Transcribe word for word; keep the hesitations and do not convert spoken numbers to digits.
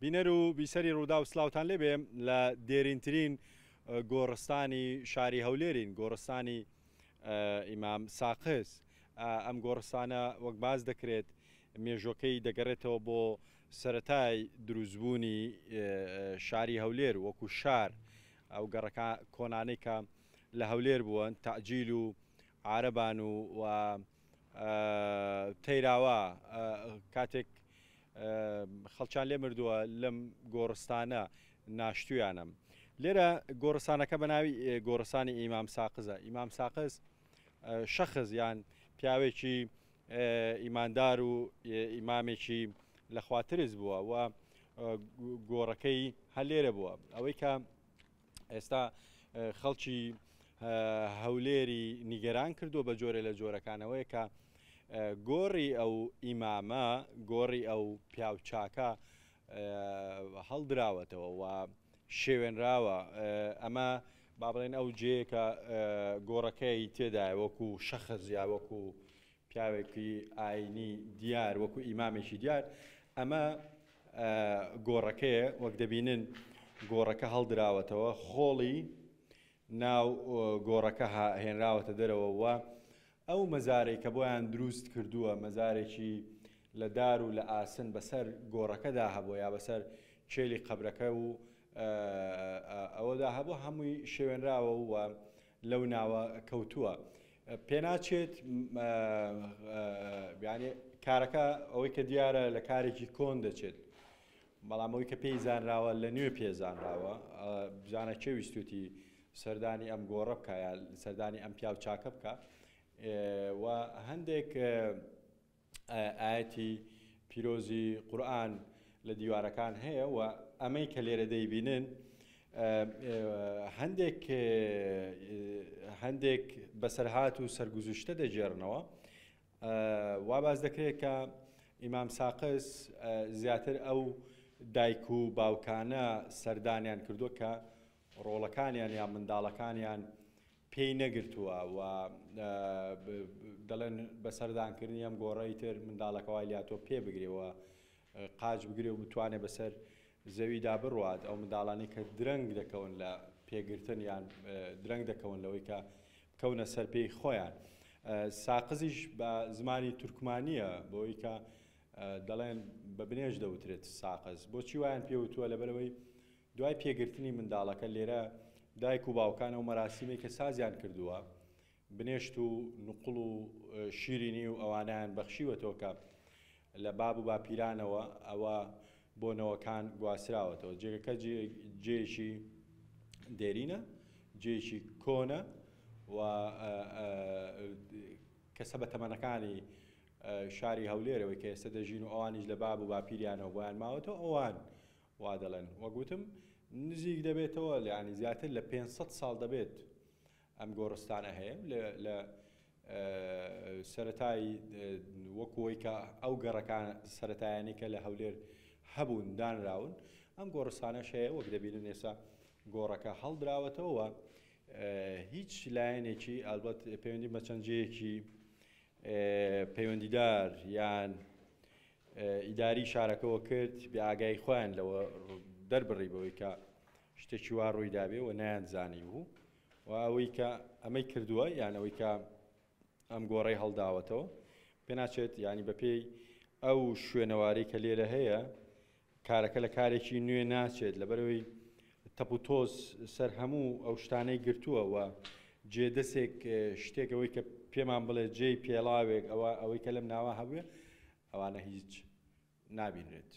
بینەر و بیسەری ڕووداو سلااوان لێبێ لە دێرینترین گۆڕستانی شاری هەولێرین، گۆڕستانی ئیمام ساقز. ئەم گۆڕستانە وەک باز دەکرێت مێژۆکەی دەگەڕێتەوە بۆ سەتای دروستبوونی شاری هەولێر وەکو شار. ئەو گەڕەکە کۆنانەی کە لە هەولێر بوون، تەعجیل و عارەبان و تەیراوە، کاتێک خەڵکیان لێ مردووە لەم گۆڕستانە ناشتویانم. لێرە گۆڕستانەکە بە ناوی گۆڕستانی ئیمام ساقزە. ئیمام ساقز شەخص یان پیاوێکی ئیماندار و ئیمامێکی لە خواترس بووە و گۆڕەکەی هەر لێرە بووە. ئەوەی کە ئێستا خەڵکی هەولێری نیگەران کردووە بە جۆرە لە جۆرەکانەوەیە کە گۆڕی ئەو ئیمامە، گۆڕی ئەو پیاوچاکە هەڵدراوەتەوە و شێوێنراوە. ئەمە با بڵێن ئەو جێیە کە گۆڕەکەی تێدایە وەکو شەخص یا وەکو پیاوێکی ئاینی دیار، وەکو ئیمامێکی دیار. ئەمە گۆڕەکەیە، وەک دەبینن گۆڕەکە هەڵدراوەتەوە، خۆڵی ناو گۆڕەکە هێنراوەتە دەرەوە و ئەو مەزارێک کە بۆیان دروست کردووە، مەزارێکی لە دار و لە ئاسن بەسەر گۆڕەکەدا هەبوو یا بەسەر چێلی قەبرەکە و ئەوەدا هەبوو، هەمووی شێوێنراوە و لەو ناوە کەوتووە. پێناچێت یعنی کارەکە ئەوەی کە دیارە لە کارێکی کۆن دەچێت، بەڵام ئەوەی کە پێی زانراوە لە نوێ پێزانراوە. بزانە کێ ویستوتی سەردانی ئەم گۆڕە بکە یا سەردانی ئەم پیاو چاکە بکە. و هەندێک ئاەتی پیرۆزی قورئان لە دیوارەکان هەیە و ئەمەی کە لێرە دەیبینن هەندێک هەندێک بەسەرهات و سەرگوزشتە دەگێڕنەوە. وا باز دەکرێت کە ئیمام ساقز زیاتر ئەو دایک و باوکانە سەردانیان کردووە کە ڕۆڵەکانیان یا منداڵەکانیان پێی نەگرتووە و دەڵێن بە سەردانکردنی ئەم گۆڕەی تر منداڵەکە وای لاتۆ پێ بگرێ و قاچ بگرێ و بتوانێت بەسەر زەویدا بڕوات. ئەو منداڵانی کە درەنگ دەکەون لە پێگرتن یان درەنگ دەکەون لەوەی کە بکەونە سەر پێی خۆیان. ساقزیش بە زمانی تورکمانیە، بۆی کە دەڵێن بە بنێژ دەوترێت ساقز. بۆچی وایان پێوتووە؟ لەبەرەوەی دوای پێگرتنی منداڵەکە لێرە دایک و باوکان ئەو مەراسیمێک کە سازیان کردووە بنێشت و نوقڵ و شیرینی و ئەوانیان بەخشیوەتەوە کە لە باب و باپیرانەوە ئەوە بۆ نەوەکان گواستراوەتەوە. جێگەکە جێیەکی دێرینە، جێیەکی کۆنە و کەسە بە تەمەنەکانی شاری هەولێرەوەی کە ئێستا دەژین و ئەوانیش لە باب و باپیریانەوە بۆیان ماوەتەوە، ئەوان وا دەڵێن. وەگوتم نزیک دەبێتەوە، یعنی زیاتر لە پێنج سەد ساڵ دەبێت ئەم گۆڕستانە هەیە. لە سەتای وەکوەی کە ئەو گەڕەکان سەتایانی کە لە هەولێر هەبوون دانراون، ئەم گۆڕستانەش هەیە. وەک دەبینن ئێستا گۆڕەکە هەڵدراوەتەوە، هیچ لایەنێکی ئەلبەت پەیوەندی بە چەند جێیەکی پەیوەندیدار یان ئیداری شارەکەەوە کرد، بێ ئاگای خۆیان لەوە دەربڕی بەوەی کە شتێکی وا ڕووی دابێ و نەیانزانی بوو. و ئەوەی کە ئەمەی کردووە یان ئەوەی کە ئەم گۆڕەی هەڵداوەتەوە پێناچێت، ینی بەپێی ئەو شوێنەوارەی کە لێرە هەیە کارەکە لە کارێکی نوێ ناچێت، لەبەرەوەی تەپ و تۆز سەر هەموو ئەو شتانەی گرتووە و جێدەسێک شتێک ئەوەی کە پێمان بڵێ جێی پێڵاوێک ئەوە ئەوەی کە لەم ناوە هەبووێ ئەوانە هیچ نابینرێت.